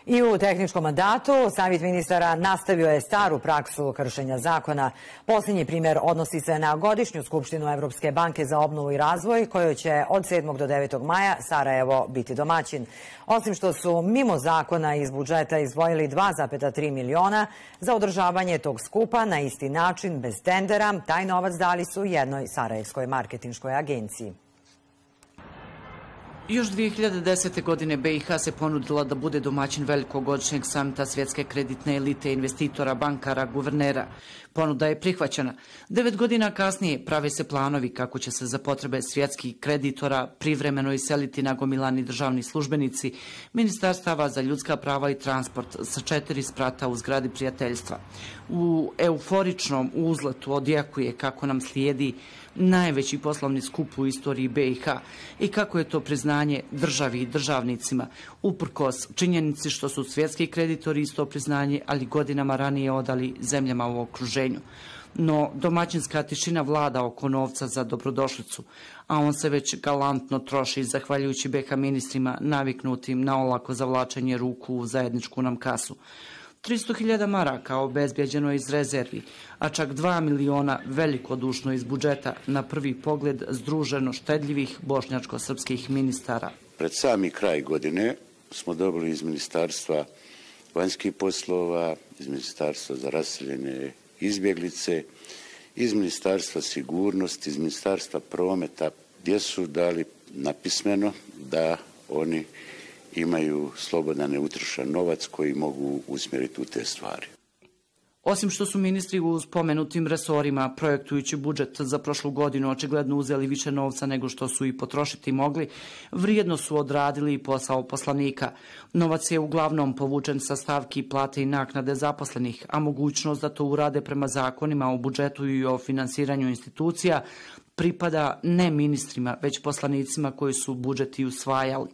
I u tehničkom mandatu Savjet ministara nastavio je staru praksu kršenja zakona. Posljednji primjer odnosi se na godišnju skupštinu Evropske banke za obnovu i razvoj, kojoj će od 7. do 9. maja Sarajevo biti domaćin. Osim što su mimo zakona iz budžeta izdvojili 2,3 miliona za održavanje tog skupa na isti način, bez tendera, taj novac dali su jednoj sarajevskoj marketinškoj agenciji. Još 2010. godine BiH se ponudila da bude domaćin velikog godišnjeg samita svjetske kreditne elite investitora, bankara, guvernera. Ponuda je prihvaćena. 9 godina kasnije prave se planovi kako će se za potrebe svjetskih kreditora privremeno iseliti nagomilani državni službenici Ministarstava za ljudska prava i transport sa 4 sprata u zgradi prijateljstva. U euforičnom uzletu odjekuje kako nam slijedi najveći poslovni skup u istoriji BiH i kako je to priznanje državi i državnicima, uprkos činjenici što su svjetski kreditori isto priznanje, ali godinama ranije odali zemljama u okruženju. No, domaćinska tišina vlada oko novca za dobrodošlicu, a on se već galantno troši zahvaljujući BiH ministrima naviknutim na olako zavlačenje ruku u zajedničku nam kasu. 300.000 maraka obezbjeđeno iz rezervi, a čak 2 miliona velikodušno iz budžeta, na prvi pogled združeno štedljivih bošnjačko-srpskih ministara. Pred sami kraj godine smo dobili iz Ministarstva vanjskih poslova, iz Ministarstva za raseljene izbjeglice, iz Ministarstva sigurnosti, iz Ministarstva prometa, gdje su dali napismeno da oni imaju slobodan neutrošen novac koji mogu usmjeriti u te stvari. Osim što su ministri u spomenutim resorima, projektujući budžet za prošlu godinu, očigledno uzeli više novca nego što su i potrošiti mogli, vrijedno su odradili i posao poslanika. Novac je uglavnom povučen sa stavki plate i naknade zaposlenih, a mogućnost da to urade prema zakonima o budžetu i o finansiranju institucija pripada ne ministrima, već poslanicima koji su budžet i usvajali.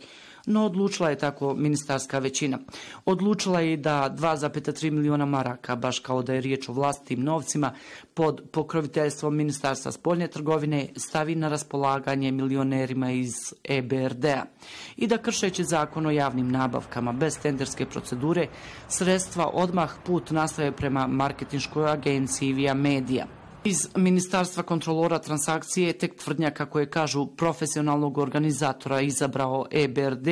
No odlučila je tako ministarska većina. Odlučila je da 2,3 miliona maraka, baš kao da je riječ o vlastitim novcima, pod pokroviteljstvom Ministarstva spoljne trgovine stavi na raspolaganje milionerima iz EBRD-a i da, kršeći zakon o javnim nabavkama bez tenderske procedure, sredstva odmah put nastave prema marketinškoj agenciji Via Media. Iz Ministarstva kontrolora transakcije tek tvrdnja, kako je kažu, profesionalnog organizatora izabrao EBRD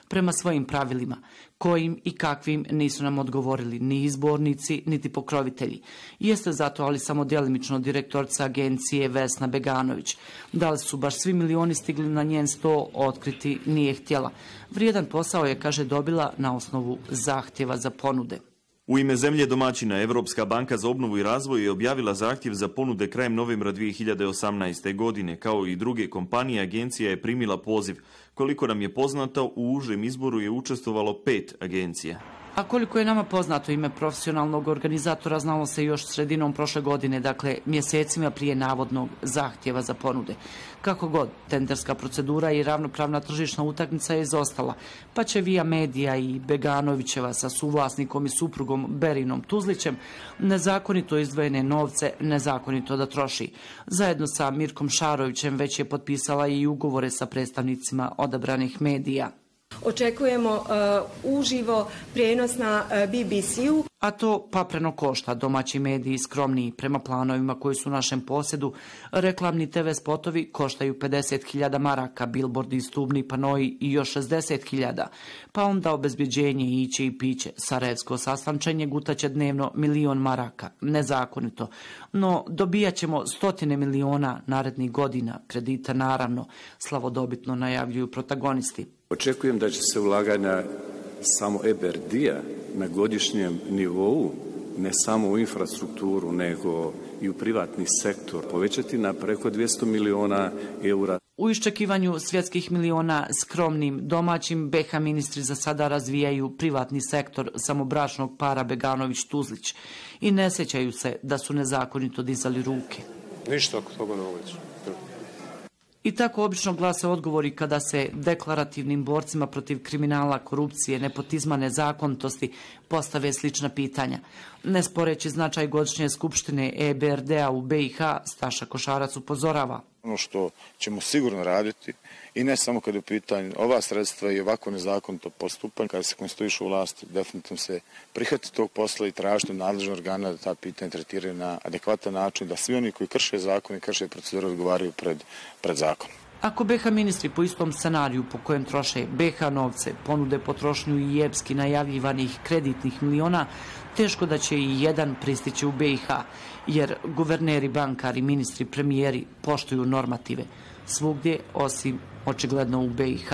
prema svojim pravilima, kojim i kakvim nisu nam odgovorili ni izbornici, niti pokrovitelji. Jeste zato, ali samo djelimično, direktorica agencije Vesna Beganović. Da li su baš svi milioni stigli na njen sto, otkriti nije htjela. Vrijedan posao je, kaže, dobila na osnovu zahtjeva za ponude. U ime zemlje domaćina, Evropska banka za obnovu i razvoj je objavila zahtjev za ponude krajem novembra 2018. godine. Kao i druge kompanije, agencija je primila poziv. Koliko nam je poznato, u užem izboru je učestvovalo 5 agencija. A koliko je nama poznato, ime profesionalnog organizatora znalo se još sredinom prošle godine, dakle mjesecima prije navodnog zahtjeva za ponude. Kako god, tenderska procedura i ravnopravna tržišna utakmica je izostala, pa će Via Media i Beganovićeva sa suvlasnikom i suprugom Berinom Tuzlićem nezakonito izdvojene novce nezakonito da troši. Zajedno sa Mirkom Šarovićem već je potpisala i ugovore sa predstavnicima odabranih medija. Očekujemo uživo prijenos na BBC-u. A to papreno košta. Domaći mediji skromniji prema planovima koji su u našem posjedu. Reklamni TV spotovi koštaju 50.000 maraka, bilbordi, stubni panoji i još 60.000. Pa onda obezbjeđenje, iće i piće. Sarajevsko sastančenje gutaće dnevno 1.000.000 maraka. Nezakonito. No dobijat ćemo stotine miliona narednih godina. Kredita naravno, slavodobitno najavljuju protagonisti. Očekujem da će se ulaganja samo EBRD-a na godišnjem nivou, ne samo u infrastrukturu, nego i u privatni sektor, povećati na preko 200 miliona eura. U iščekivanju svjetskih miliona skromnim domaćim BiH ministri za sada razvijaju privatni sektor samobračnog para Beganović-Tuzlić i ne sjećaju se da su nezakonito dizali ruke. Ništa oko toga ne uveću. I tako obično glase odgovori kada se deklarativnim borcima protiv kriminala, korupcije, nepotizma, nezakonitosti postave slična pitanja. Ne sporeći značaj godišnje skupštine EBRD-a u BiH, Staša Košarac upozorava. Ono što ćemo sigurno raditi, i ne samo kada je u pitanju ova sredstva i ovako nezakonito postupanje, kada se konstituišu vlasti, definitivno se prihvati tog posla i tražiti od nadležnog organa da ta pitanja tretiraju na adekvatan način, da svi oni koji krše zakon i krše procedure odgovaraju pred zakonom. Ako BiH ministri po istom scenariju po kojem troše BiH novce ponude potrošnju i epski najavljivanih kreditnih miliona, teško da će i jedan pristići u BiH, jer guverneri, bankari, ministri, premijeri poštuju normative svugdje osim očigledno u BiH.